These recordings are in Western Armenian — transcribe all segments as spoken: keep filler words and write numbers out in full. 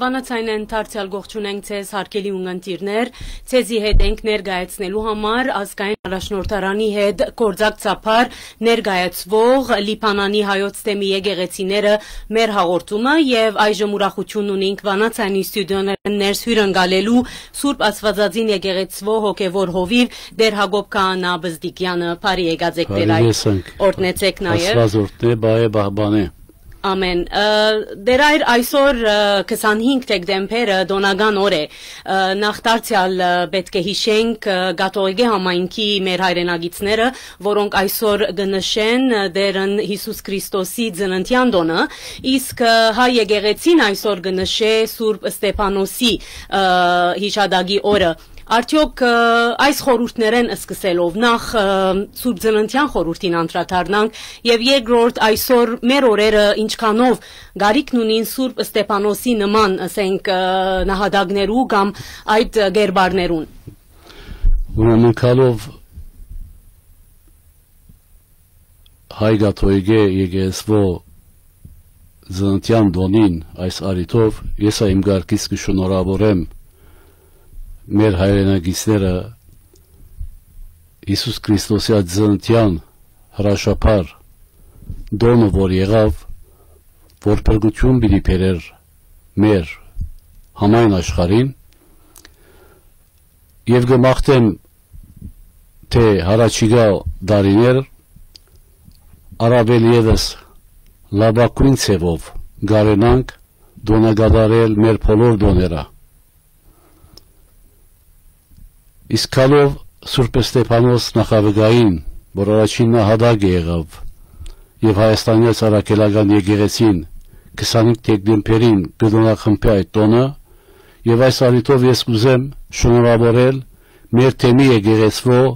Վանաձայնէն դարձեալ կողջունենք ձեզ, հարգելի ունգընտիրներ։ Ձեզի հետ ենք ներկայացնելու համար ազգային առաջնորդարանի հետ գործակցաբար ներկայացվող Լիբանանի հայոց թեմի եկեղեցիները մեր հաղորդումը, եւ այժմ ուրախութիւն ունենք Վանաձայնի ստուդիոներէն ներս հիւրընկալելու Սուրբ Աստուածածին եկեղեցվո հոգեվոր հովիվ Տեր Հակոբ Քահանա Բզդիկեանը։ Բարի եկած եք, Տեր Բարի Հայր։ Եսանք։ Օրհնեցեք նաեւ։ Աստուած օրհնէ, Պահէ, պահպանէ։ Ամեն։ Ը, Տեր Հայր, այսօր, ը, քսանհինգ դեկտեմբերը տօնական օր է։ Ը, նախ դարձեալ, ը, պէտք է յիշենք, ը, կաթողիկէ համայնքի մեր հայրենակիցները, որոնք այսօր կը նշեն, ը, Տերն Յիսուս Քրիստոսի ծննդեան տօնը, իսկ, ը, հայ եկեղեցին այսօր կը նշէ Սուրբ Ստեփանոսի, ը, յիշատակի օրը։ Արդեօք, ը, այս խորհուրդներէն սկսելով, նախ, ը, Սուրբ Ծննդեան խորհուրդին անդրադառնանք, եւ երկրորդ, այսօր մեր օրերը ինչքանով կարիքն ունին Սուրբ Ստեփանոսի նման, ասենք, ը, նահատակներու կամ այդ, ը, կերպարներուն։ Ուրեմն, գալով հայ կաթողիկէ եկեղեցուոյ ծննդեան տօնին, այս առիթով ես ա իմ կարգից կը շնորհաւորեմ մեր հայրենակիցները Յիսուս Քրիստոսի այդ ծննդեան հրաշափառ տօնը, որ եղաւ, որ փրկութիւն պիտի բերէր մեր համայն աշխարհին, եւ կը մաղթեմ, թէ հառաջիկայ տարիներ առաւել եւս լաւագոյն ձեւով կարենանք տօնակատարել մեր բոլոր տօները։ Իսկ գալով Սուրբ Ստեփանոս նախավկային, որ առաջին նահատակը եղաւ, եւ Հայաստանեայ Առաքելական եկեղեցին քսանհինգ դեկտեմբերին կը տօնախմբի այդ տօնը, եւ այս առիթով ես կ'ուզեմ շնորհաւորել մեր թեմի եկեղեցուոյ,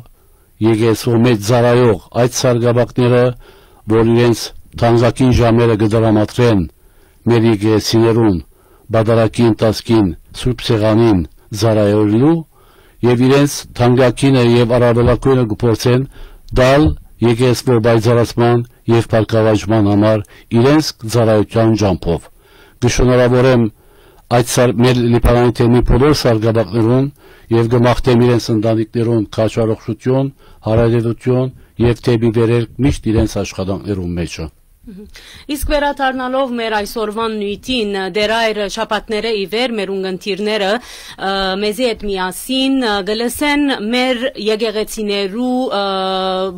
եկեղեցուոյ մէջ ծառայող այդ սարկապատները, որ իրենց թանկագին ժամերը կը տրամադրեն մեր եկեղեցիներուն պատարագի ընթացքին Սուրբ Սեղանին ծառայելու, եւ իրենց թանկագինը եւ առավելագոյնը կը փորձեն տալ եկեղեցուոյ պայծառացման եւ բարգաւաճման համար իրենց ծառայութեան ճամբով։ Կը շնորհաւորեմ այդ սար-, մեր Լիբանանի թեմի բոլոր սարկապատներուն եւ կը մաղթեմ իրենց ընտանիքներուն քաջառողջութիւն, հարատեւութիւն եւ դէպի վերելք միշտ իրենց աշխատանքներուն մէջը։ Մհմ։ Իսկ վերադառնալով մեր այսօրվան նիւթին, Տեր Հայր, շաբաթներէ ի վեր մեր ունգընտիրները, ը, մեզի հետ միասին, ը, կը լսեն մեր եկեղեցիներու, ը,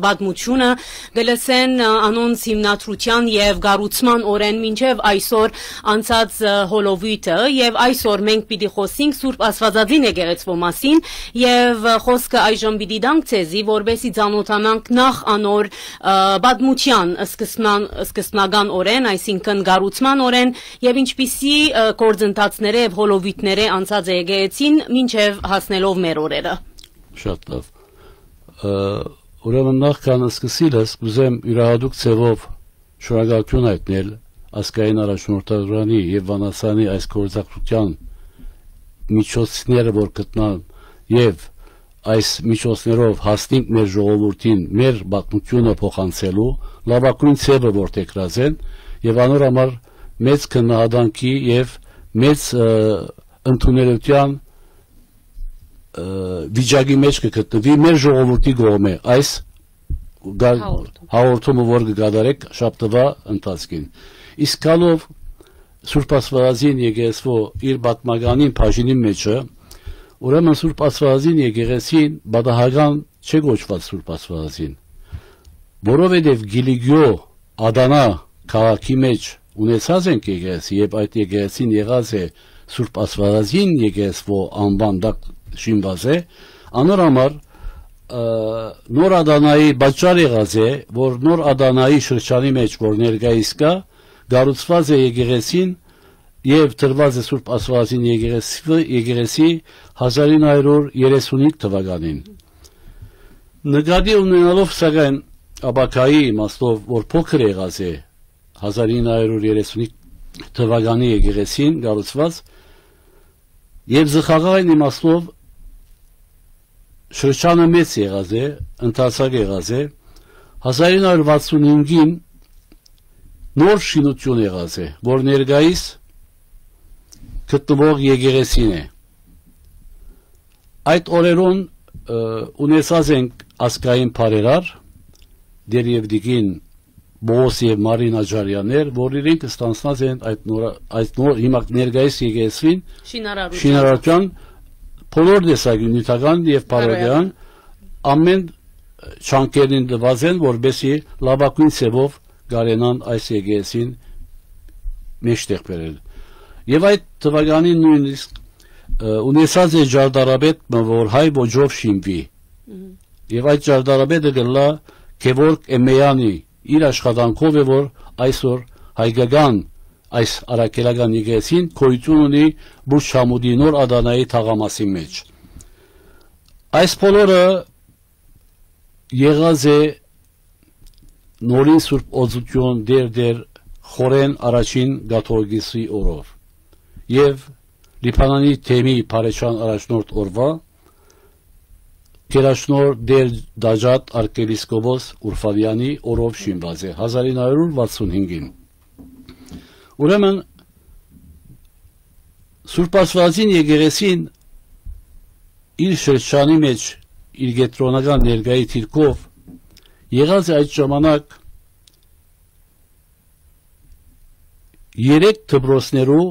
պատմութիւնը, կը լսեն, ը, անոնց հիմնադրութեան եւ կառուցման օրէն մինչեւ այսօր անցած, ը, հոլովոյթը, եւ այսօր մենք պիտի խօսենք Սուրբ Աստուածածին եկեղեցուոյ մասին, եւ, ը, խօսքը այժմ պիտի տանք ձեզի, որպէսզի ծանօթանանք նախ անոր, ը, պատմութեան սկզբնան-, սկզբնական օրէն, այսինքն կառուցման օրէն, եւ ինչպիսի, ը, գործընթացներէ եւ հոլովոյթներէ անցած է եկեղեցին մինչեւ հասնելով մեր օրերը։ Շատ լաւ։ Ը, ուրեմն նախքան սկսիլս, կ'ուզեմ իւրայատուկ ձեւով շնորհակալութիւն յայտնել ազգային առաջնորդարանի եւ Վանաձայնի այս գործակցութեան միջոցները, որ գտնան, եւ այս միջոցներով հասնենք մեր ժողովուրդին մեր պատմութիւնը փոխանցելու լաւագոյն ձեւը որդեգրած են, եւ անոր համար մեծ քննադատանքի եւ մեծ, ը, ընդունելութեան, ը, վիճակի մէջ կը գտնուի մեր ժողովուրդի կողմէ այս գա-, Հաղորդում։ հաղորդումը, որ կը կատարեք շաբթուայ ընթացքին։ Իսկ գալով Սուրբ Աստուածածին եկեղեցուոյ իր պատմականին բաժինին մէջը, ուրեմն Սուրբ Աստուածածին եկեղեցին պատահական չէ կոչուած Սուրբ Աստուածածին, որովհետեւ Կիլիկիոյ Ադանա քաղաքի մէջ ունեցած ենք եկեղեցի, եւ այդ եկեղեցին եղած է Սուրբ Աստուածածին եկեղեցուոյ անուան տակ շինուած է, անոր համար, ը, Նոր Ադանայի պատճառ եղած է, որ Նոր Ադանայի շրջանի մէջ, որ ներկայիս կայ, կառուցուած է եկեղեցին եւ տրուած է Սուրբ Աստուածածին եկեղեցի, եկեղեցի հազար ինը հարյուր երեսունհինգ թվականին։ Նկատի ունենալով, սակայն, ապագայի իմաստով, որ փոքր եղած է հազար ինը հարյուր երեսունհինգ թվականի եկեղեցին կառուցուած, եւ զղաղային իմաստով շրջանը մեծ եղած է, ընդարձակ եղած է, հազար ինը հարյուր վաթսունհինգին նոր շինութիւն եղած է, որ ներկայիս գտնուող եկեղեցին է։ Այդ օրերուն, ը, ունեցած ենք ազգային բարերար, դեր եւ դիկին Պողոս եւ Մարին Աճարյաններ, որ իրենք ստանձնած են այդ նոր, այդ նոր հիմա ներկայիս եկեղեցին շինարարության, շինարարության բոլոր տեսակի նիւթական եւ բարոյական, բարոյական, ամեն չանքերին տուած են, որպեսզի լավագույն ձեւով կարենան այս եկեղեցին մեջտեղ բերել։ Եւ այդ թվականին նոյնիսկ, ը, ունեցած է ճարտարապետ մը, որ հայ ոճով շինուի։ Մհմ։ Եւ այդ ճարտարապետը կ'ըլլայ Գևորգ Էմեյանի, իր աշխատանքով է, որ այսօր հայկական այս առաքելական եկեղեցին գոյություն ունի Բուշ Համուտի նոր Ադանայի թաղամասին մեջ։ Այս բոլորը եղած է նորին Սուրբ Օծութիւն Տէր Տէր Խորէն առաջին կաթողիկոսի օրով եւ Լիբանանի թեմի բարեչան առաջնորդ օրուայ գերաչնորհ Տէր Դաջատ արքեպիսկոպոս Ուրֆանեանի օրով շինուած է, հազար ինը հարիւր վաթսուն հինգին։ Ուրեմն, Սուրբ Աստուածին եկեղեցին իր շրջանի մեջ, իր կեդրոնական ներկայի դիրքով եղած է այդ ժամանակ երեք դպրոցներու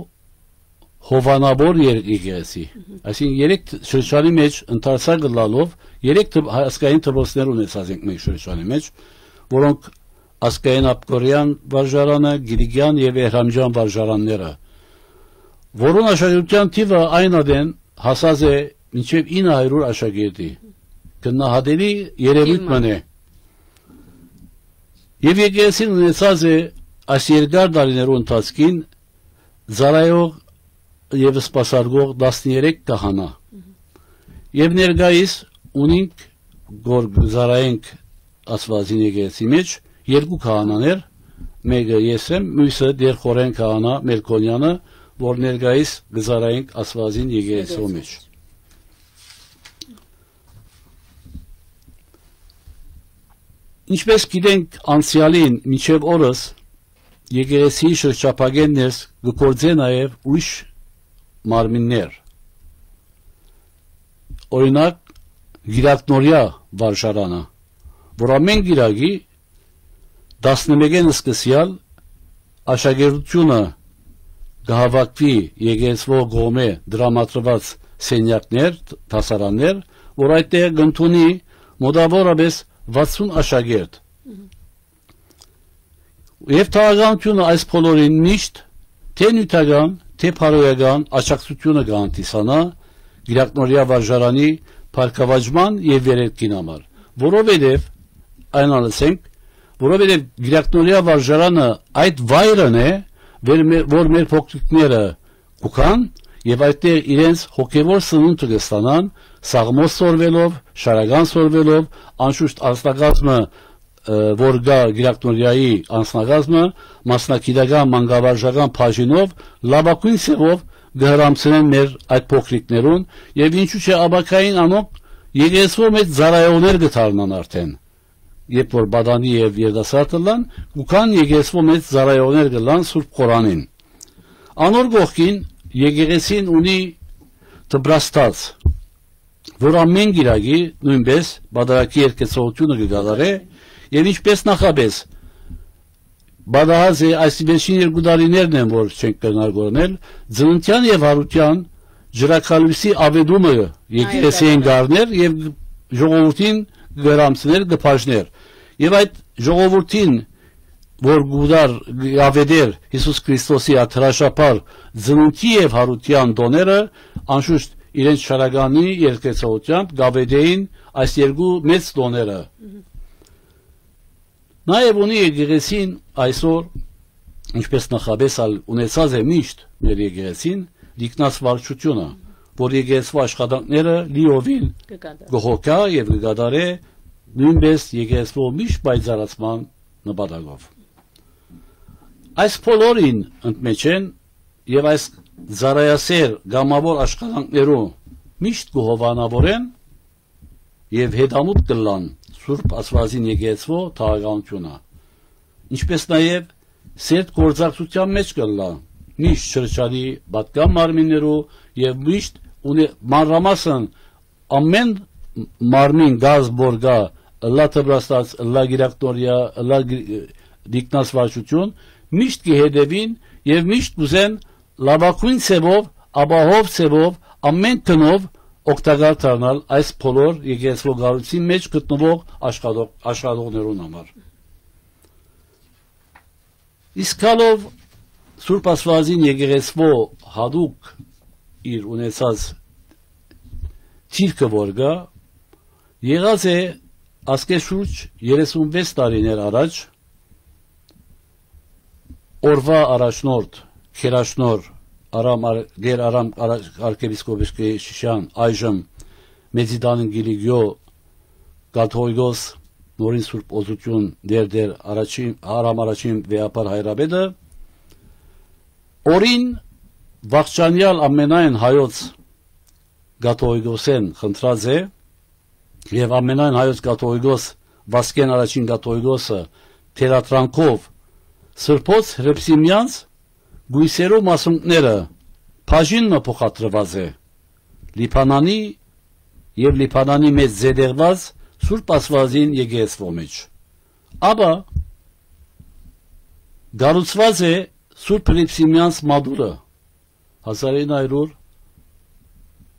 հովանավոր եր-, եկեղեցի։ Մհմ։ Այսինքն, երեք դ-, շրջանի մեջ ընդարձակ ըլլալով, երեք դպ-, ազգային դպրոցներ ունեցած ենք մենք շրջանի մեջ, որոնք ազգային Աբկորեան վարժարանը, Կիլիկեան եւ Էհրամեան վարժարանները, որուն աշակերտության թիվը այն ատեն հասած է մինչեւ ինը հարիւր աշակերտի։ Գնահատելի երեւոյթ Թիվ մը։ մնէ։ Եւ եկեղեցին ունեցած է այս երկար տարիներու ընթացքին ծառայող եւ սպասարկող տասներեք քահանա։ Մհմ։ Եւ ներկայիս ունինք, որ կը ծառայենք Աստուածին եկեղեցի մեջ, երկու քահանաներ, մէկը ես եմ, միւսը Տէր Խորէն քահանա Մելքոնեանը, որ ներկայիս կը ծառայենք Աստուածին եկեղեցու Եկեղեցու մեջ։ Ինչպես գիտենք, անցեալին մինչեւ օրս եկեղեցիի շրջափակէն ներս կը գործէ նաեւ ուրիշ մարմիններ։ Օրինակ, Կիրակնորեայ վարժարանը, որ ամէն կիրակի տասնմէկէն սկսեալ աշակերտութիւնը կը հաւաքուի եկեղեցւոյ կողմէ տրամադրուած սենեակներ, դասարաններ, որ այդտեղ կ'ընդունի մօտաւորապէս վաթսուն աշակերտ։ Մհմ։ Եւ թաղականութիւնը այս բոլորին միշտ թէ նիւթական, թէ բարոյական աջակցութիւնը կը հանդիսանայ Կիրակնորեայ վարժարանի բարգաւաճման եւ վերելքին համար, որովհետեւ, այն ալ ասենք, որովհետեւ Կիրակնորեայ վարժարանը այդ վայրն է, վեր մե-, որ մեր փոքրիկները կու գան եւ այդտեղ իրենց հոգեւոր սնունդը կը ստանան, սաղմոս սորվելով, շարական սորվելով, անշուշտ անձնակազմը, ը, որ կայ Կիրակնորեայի անձնակազմը, մասնագիտական, մանկավարժական բաժինով լաւագոյն ձեւով կը հրամցնեն մեր այդ փոքրիկներուն, եւ ինչու՞ չէ, ապագային անոնք եկեղեցւոյ մէջ ծառայողներ կը դառնան արդեն, երբ որ պատանի եւ երիտասարդ ըլլան, կու գան եկեղեցւոյ մէջ ծառայողներ կ'ըլլան Սուրբ Խորանին։ Անոր կողքին եկեղեցին ունի դպրաստաց, որ ամէն կիրակի նոյնպէս պատարագի երկեցողութիւնը կը կատարէ, եւ ինչպես նախապէս պատահած է, այս վերջին երկու տարիներն են, որ չենք կրնար գոռնել, ծննդեան եւ յարութեան ջրակալոյսի աւետումը եկեղեցիին Այո, կ'առներ եւ ժողովուրդին կը հրամցներ, կը բաժներ։ Եւ այդ ժողովուրդին, որ կ'ուտար, կ'աւետէր Յիսուս Քրիստոսի աթրաշապար ծնունդի եւ յարութեան տոները, անշուշտ իրենց շարականի երկեցողութեամբ կ'աւետէին այս երկու մեծ տոները։ Մհմ։ Նաեւ ունի եկեղեցին այսօր, ինչպես նախապէս ալ ունեցած է միշտ մեր եկեղեցին, տիկնաց վարչությունը, որ եկեղեցու աշխատանքները լիովին կը կատարի, կը հոգայ եւ կը կատարէ նոյնպէս եկեղեցու միշտ պայծառացման նպատակով։ Այս բոլորին ընդմէջէն եւ այս ծառայասեր կամաւոր աշխատանքներու միշտ կը հովանավորեն եւ հետամուտ կ'ըլլան Սուրբ Աստուածին եկեղեցու թաղականութիւնը, ինչպես նաեւ սերտ գործակցութեան մէջ կ'ըլլայ միշտ շրջանի պատկան մարմիններու եւ միշտ ունի մանրամասն ամէն մարմին կազմ որ կայ, ըլլայ դպրաստաց, ըլլայ գիրակտորիա, ըլլայ գի-, դիկնազբաղչութիւն, միշտ կը հետեւին եւ միշտ կ'ուզեն լաւագոյն ձեւով, ապահով ձեւով, ամէն գնով օգտակար դառնալ այս բոլոր եկեղեցւոյ կառոյցին մէջ գտնուող աշխատող, աշխատողներուն համար։ Իսկ գալով Սուրբ Աստուածին եկեղեցւոյ յատուկ իր ունեցած դիրքը որ կայ, եղած է ասկէ շուրջ երեսունվեց տարիներ առաջ օրուայ առաջնորդ, գերաշնորհ Արամ Ար-, Տէր Արամ Արա-, արքեպիսկոպոս Կեշիշեան, այժմ Մեծիտանին Կիլիկիոյ կաթողիկոս, նորին Սուրբ Օծութիւն Տէր Տէր առաջին, Արամ առաջին վեհափառ հայրապետը, օրին վախճանեալ ամենայն հայոց կաթողիկոսէն խնդրած է, եւ ամենայն հայոց կաթողիկոս Վասկէն առաջին կաթողիկոսը թելադրանքով Սրբոց Հռիփսիմեանց կոյսերու մասունքները բաժին մը փոխադրուած է Լիբանանի եւ Լիբանանի մէջ զետեղուած Սուրբ Աստուածին եկեղեցւոյ մէջ։ Ապա կառուցուած է Սուրբ Հռիփսիմեանց մատուռը, հազար ինը հարիւր,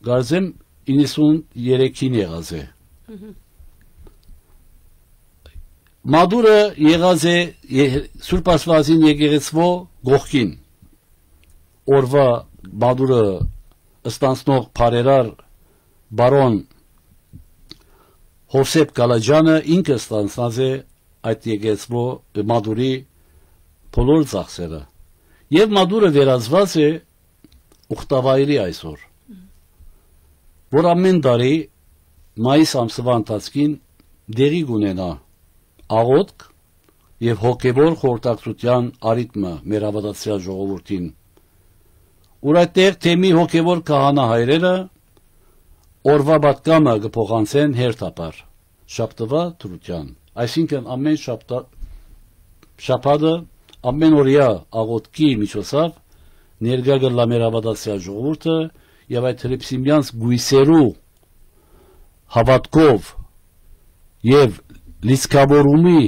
կարծեմ, իննսուն երեքին եղած է։ Մատուռը եղած է ե-, Սուրբ Աստուածին եկեղեցւոյ կողքին։ Օրուայ մատուռը ստանցնող բարերար բարոն Հովսեփ Կալաջանը ինքը ստանցած է այդ եկեղեցւոյ մատուռի բոլոր ծախսերը։ Եւ մատուռը վերածուած է ուխտավայրի այսօր, որ ամէն տարի մայիս ամսուայ ընթացքին տեղի կունենայ աղօթք եւ հոգեւոր խորհրդակցութեան առիթ մը մեր հաւատացեալ ժողովուրդին, ուր այդտեղ թեմի հոգեւոր քահանա հայրերը օրուայ պատգամը կը փոխանցեն հերթապար շաբթուայ դրութեան, այսինքն ամէն շաբթա-, շաբաթը, ամէն օրեայ աղօթքի միջոցաւ ներկայ կ'ըլլայ մեր հաւատացեալ ժողովուրդը եւ այդ հռիփսիմեանց կոյսերու հաւատքով եւ լիցքաւորումի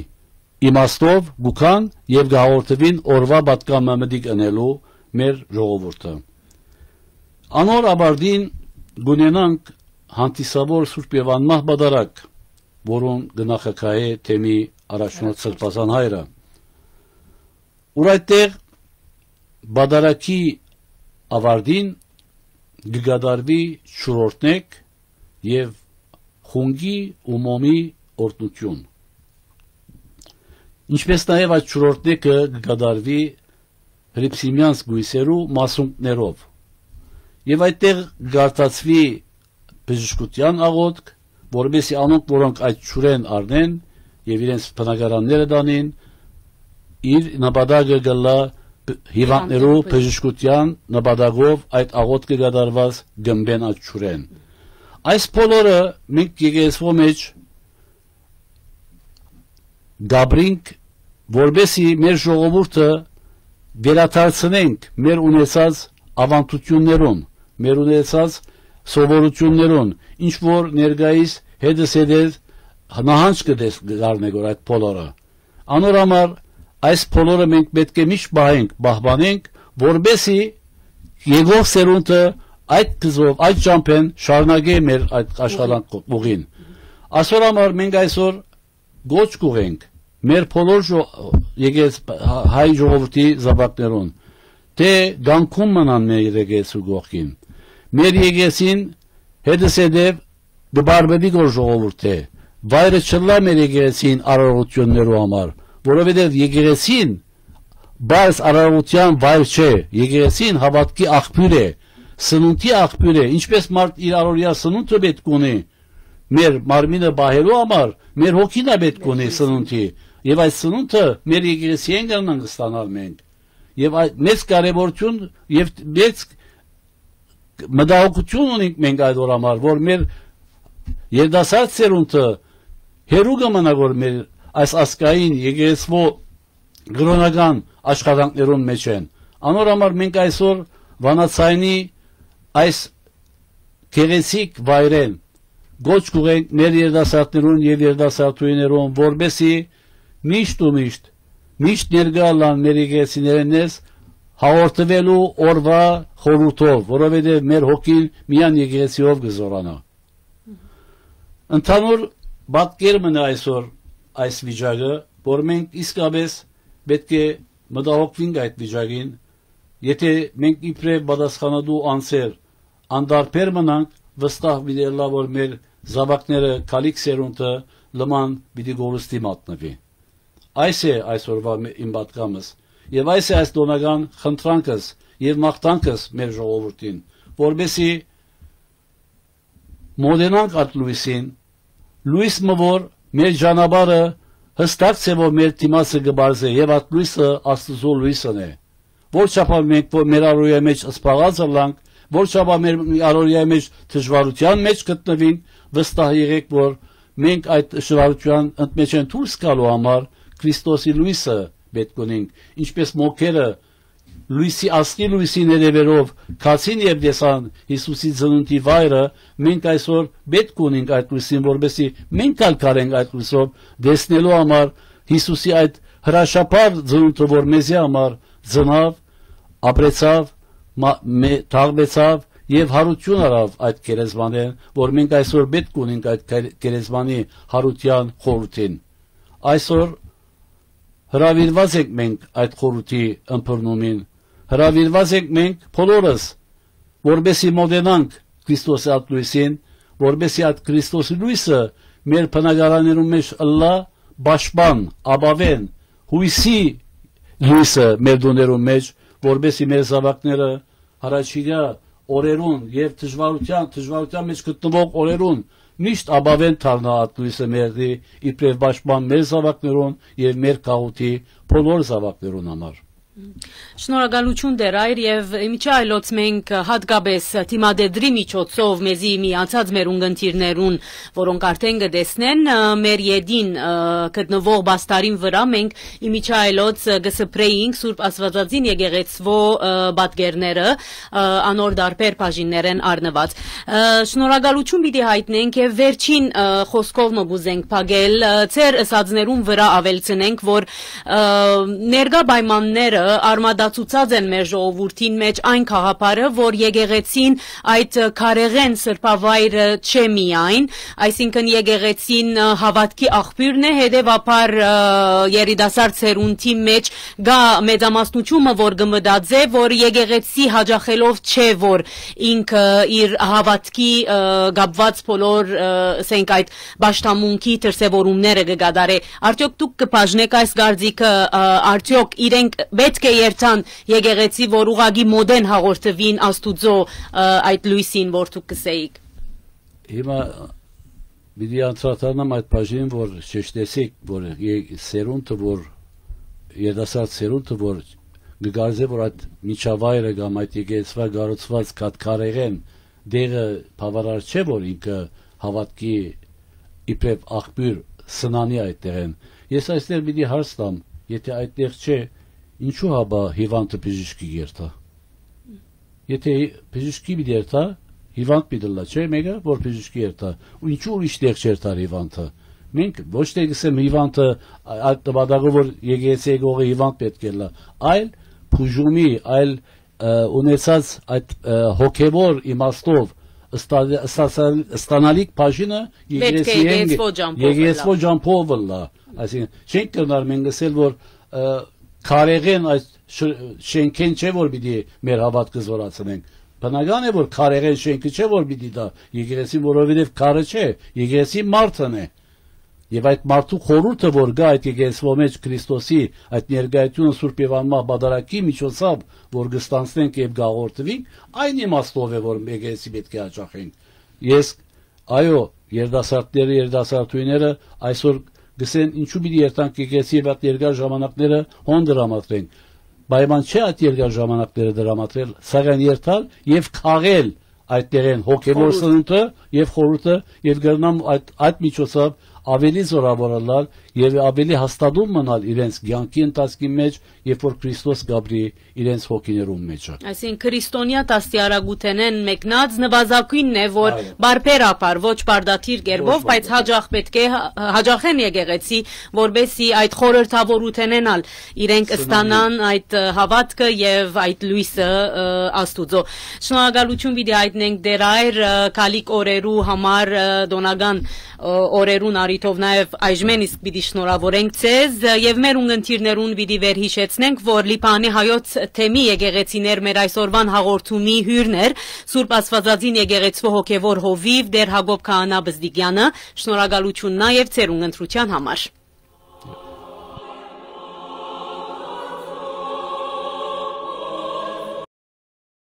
իմաստով կու գան եւ կը հաղորդուին օրուայ պատգամը մտիկ ընելու մեր ժողովուրդը։ Անոր ավարտին կունենանք հանդիսավոր Սուրբ եւ Անմահ Պատարագ, որուն կը նախագահէ թեմի առաջնորդ Սրբազան հայրը, ուր այդտեղ պատարագի ավարտին կը կատարուի չորրորդնեկ եւ խունկի ու մոմի օրհնութիւն։ Ինչպէս նաեւ այդ չորրորդնեկը կը կատարուի հռիփսիմեանց կոյսերու մասունքներով։ Եւ այդտեղ կ'արտացուի բժշկութեան աղօթք, որպեսզի անոնք, որոնք այդ ջուրէն առնեն եւ իրենց բնակարանները տանին, իր նպատակը կ'ըլլայ հիվանդներու բժշկութեան նպատակով այդ աղօթքը կատարուած կ'ըմպեն այդ ջուրէն։ Այս բոլորը մենք եկեղեցւոյ մէջ կ'ապրինք, որպեսզի մեր ժողովուրդը վերադարձնենք մեր ունեցած աւանդութիւններուն, մեր ունեցած սովորութիւններուն, ինչ որ ներկայիս հետզհետե նահանջ կը տես-, կ'առնենք որ այդ բոլորը։ Անոր համար այս բոլորը մենք պէտք է միշտ պահենք, պահպանենք, որպեսզի եկող սերունդը այդ գծով, այդ ճամբէն շարունակէ մեր այդ աշխատանք ուղին։ Ասոր համար մենք այսօր գոչ կ'ուղենք մեր բոլոր ժո-, եկեղեցի-, հայ ժողովրդի զաւակներուն, թէ կանգուն մնան մեր եկեղեցու կողքին։ Մեր եկեղեցին հետզհետեւ կը բարբերի գոր ժողովուրդը, վայրը չըլլայ մեր եկեղեցին արարողութիւններու համար, որովհետեւ եկեղեցին պարզ արարողութեան վայր չէ, եկեղեցին հաւատքի աղբիւր է, սնունդի աղբիւր է, ինչպէս մարդ իր առօրեայ սնունդը պէտք ունի մեր մարմինը պահելու համար, մեր հոգին ալ պէտք ունի սնունդի, եւ այդ սնունդը մեր եկեղեցիէն կրնանք ստանալ մենք։ Եւ այդ մեծ կարեւորութիւն եւ մեծ մտահոգութիւն ունենք մենք այդ օր համար, որ մեր երիտասարդ սերունդը հեռու կը մնայ, որ մեր այս ազգային եկեղեցւոյ կրօնական աշխատանքներուն մէջ են։ Անոր համար մենք այսօր վանաձայնի այս գեղեցիկ վայրէն կոչ կ'ուղենք մեր երիտասարդներուն եւ երիտասարդուհիներուն, որպէսզի միշտ ու միշտ, միշտ ներկայ ըլլան մեր եկեղեցիներէն ներս հաղորդուելու օրուայ խորհուրդով, որովհետեւ մեր հոգին միայն եկեղեցիով կը զօրանայ։ Ընդհանուր պատկեր մնայ այսօր այս վիճակը, որ մենք իսկապէս պէտք է մտահոգուինք այդ վիճակին, եթէ մենք իբրեւ պատասխանատու անձեր անտարբեր մնանք, վստահ պիտի ըլլայ, որ մեր զաւակները, գալիք սերունդը լման պիտի կորուստի մատնուի։ Այս է այսօրուայ մէ-, իմ պատգամս, եւ այս է այս տօնական խնդրանքս եւ մաղթանքս մեր ժողովուրդին, որպեսզի մոտենանք այդ լոյսին, լոյս մը, որ մեր ճանապարհը յստակ ձեւով մեր դիմացը կը պարզէ, եւ այդ լոյսը Աստուծոյ լոյսն է։ Որ չափով մենք որ մեր առօրյայի մեջ սպաղած ըլլանք, որ չափով մեր առօրյայի մեջ դժուարութեան մեջ գտնուինք, վստահ եղէք, որ մենք այդ դժուարութեան ընդմէջէն դուրս գալու համար Քրիստոսի լոյսը պէտք ունենք, ինչպէս մոգերը լոյսի, աստղի լոյսին հետեւելով գացին եւ տեսան Յիսուսի ծնունդի վայրը, մենք այսօր պէտք ունենք այդ լոյսին, որպեսզի մենք ալ կարենք այդ լոյսով տեսնելու համար Յիսուսի այդ հրաշափառ ծնունդը, որ մեզի համար ծնաւ, ապրեցաւ, մա-, մե-, թաղվեցաւ եւ յարութիւն առաւ այդ գերեզմանէն, որ մենք այսօր պէտք ունենք այդ գեր-, գերեզմանի յարութեան խորհուրդին։ Այսօր հրաւիրուած ենք մենք այդ խորհուրդի ըմբռնումին, հրաւիրուած ենք մենք բոլորս, որպեսզի մոտենանք Քրիստոսի այդ լոյսին, որպեսզի այդ Քրիստոսի լոյսը մեր բնակարաններուն մեջ ըլլայ պաշտպան, ապաւէն, յոյսի լոյսը մեր տուներուն մեջ, որպեսզի մեր զաւակները յառաջիկայ օրերուն եւ դժուարութեան, դժուարութեան մեջ գտնուող օրերուն միշտ ապաւէն դառնայ այդ լոյսը մերտի, իբրեւ պաշտպան մեր զաւակներուն եւ մեր գաղութի բոլոր զաւակներուն համար։ Շնորհակալութիւն, Տէր Այր, եւ միջի այլոց մենք հատկապէս դիմատետրի միջոցով մեզի միացած մեր ունգընտիրներուն, որոնք արդէն կը տեսնեն, ը, մեր ետին, ը, գտնուող պաստարին վրայ մենք ի միջի այլոց, ը, կը սփռէինք Սուրբ Աստուածածին եկեղեցւոյ, ը, պատկերները, ը, անոր տարբեր բաժիններէն առնուած։ Ը, շնորհակալութիւն պիտի յայտնենք եւ վերջին, ը, խօսքով մը կ'ուզենք փակել, ը, ձեր ըսածներուն վրայ աւելցնենք, որ, ը, ներկայ պայմանները արմատացուցած են մեր ժողովուրդին մէջ այն գաղափարը, որ եկեղեցին այդ, ը, քարեղէն սրբավայրը չէ միայն, այսինքն եկեղեցին, ը, հաւատքի աղբիւրն է, հետեւաբար, ը, երիտասարդ սերունդի մէջ կայ մեծամասնութիւնը, որ կը մտածէ, որ եկեղեցի յաճախելով չէ, որ ինքը իր հաւատքի, ը, կապուած բոլոր, ը, ասենք, այդ պաշտամունքի դրսեւորումները կը կատարէ։ Արդեօք դուք կը բաժնեք այս կարծիքը, ը, արդեօք իրենք պէտք է երթան եկեղեցի, որ ուղղակի մօտէն հաղորդուին Աստուծոյ, ը, այդ լոյսին, որ դուք կ'ըսէիք։ Հիմա պիտի անդրադառնամ այդ բաժինին, որ շեշտեցիք, որ ե-, սերունդը, որ երիտասարդ սերունդը, որ կը կարծէ, որ այդ միջավայրը կամ այդ եկեղեցւոյ կառուցուած կաթ քարեղէն տեղը բաւարար չէ, որ ինքը հաւատքի իբրեւ աղբիւր սնանի այդտեղէն։ Ես այստեղ պիտի հարց տամ, եթէ այդտեղ չէ, ինչու՞ հապա հիւանդը բժիշկի կ'երթայ։ Եթէ հի-, բժիշկի պիտի երթայ, հիւանդ պիտի ըլլայ, չէ՞, մէկը, որ բժիշկի երթայ։ Ու ինչու՞ ուրիշ տեղ չերթար հիւանդը։ Մենք ոչ թե կ'ըսեմ հիւանդը ա-, այդ նպատակով, որ եկեղեցի եկողը հիւանդ պէտք է ըլլայ, այլ բուժումի, այլ, ը, ունեցած այդ, ը, հոգեւոր իմաստով ստա-, ստացալ-, ստանալիք բաժինը Պէտք է եկեղեցի եկեղեցի ջամփով եկեղեցի ըլլայ։ Ջամփով ըլլայ։ Այսինքն, չենք կրնար մենք ըսել, որ, ը, քարեղէն այս շ-, շենքէն չէ, որ պիտի մեր հաւատքը զորացնենք։ Բնական է, որ քարեղէն շենքը չէ, որ պիտի դա, եկեղեցին, որովհետեւ քարը չէ, եկեղեցին մարդն է։ Եւ այդ մարդու խորհուրդը, որ կայ այդ եկեղեցւոյ մեջ Քրիստոսի այդ ներկայությունը Սուրբ եւ Անմահ Պատարագի միջոցով, որ կստանցնենք եւ կաղորդվենք, այն իմաստով է, որ եկեղեցի պէտք է հաճախենք։ Ես, այո, երիտասարդները, երիտասարդուհիները այսօր կ'ըսեն, ինչու՞ պիտի երթանք եկեղեցի եւ այդ երկար ժամանակները հոն դրամատրենք։ Պայման չէ այդ երկար ժամանակները դրամատրել, սակայն երթալ եւ քաղել այդ տեղեն հոգեւոր խորհուրդ։ Սնունդը եւ խորհուրդը, եւ կրնամ այդ, այդ միջոցով Աւելի զօրաւոր ըլլալ եւ աւելի հաստատուն մնալ իրենց կեանքի ընթացքի մէջ, երբ որ Քրիստոս կ'ապրի իրենց հոգիներուն մէջը։ Այսինքն, քրիստոնեայ դաստիարակութենէն մեկնած նուազագոյնն է, որ Այո։ բարբերաբար, ոչ պարտադիր կերպով, Ոչ բայց պարտադիր։ հաճախ պէտք է հա-, հաճախեն եկեղեցի, որպեսզի այդ խորհրդավորութենէն ալ իրենք Սնանին։ ստանան այդ, ը, հաւատքը եւ այդ լոյսը, ը, Աստուծոյ։ Շնորհակալութիւն պիտի հայտնենք դեռ այր, ը, գալիք օրերու համար, ը, տօնական, ը, օրերուն առիթով նաեւ այժմէն իսկ պիտի շնորհավորենք ձեզ, ը, եւ մեր ունգընտիրներուն պիտի վերհիշեցնենք, որ Լիբանանի հայոց թեմի եկեղեցիներ մեր այսօրուան հաղորդումի հիւրն էր Սուրբ Աստուածածին եկեղեցւոյ հոգեւոր հովիւ Տէր Յակոբ Քահանա Բզդիկեանը։ Շնորհակալութիւն նաեւ ձեր ունգընտրութեան համար։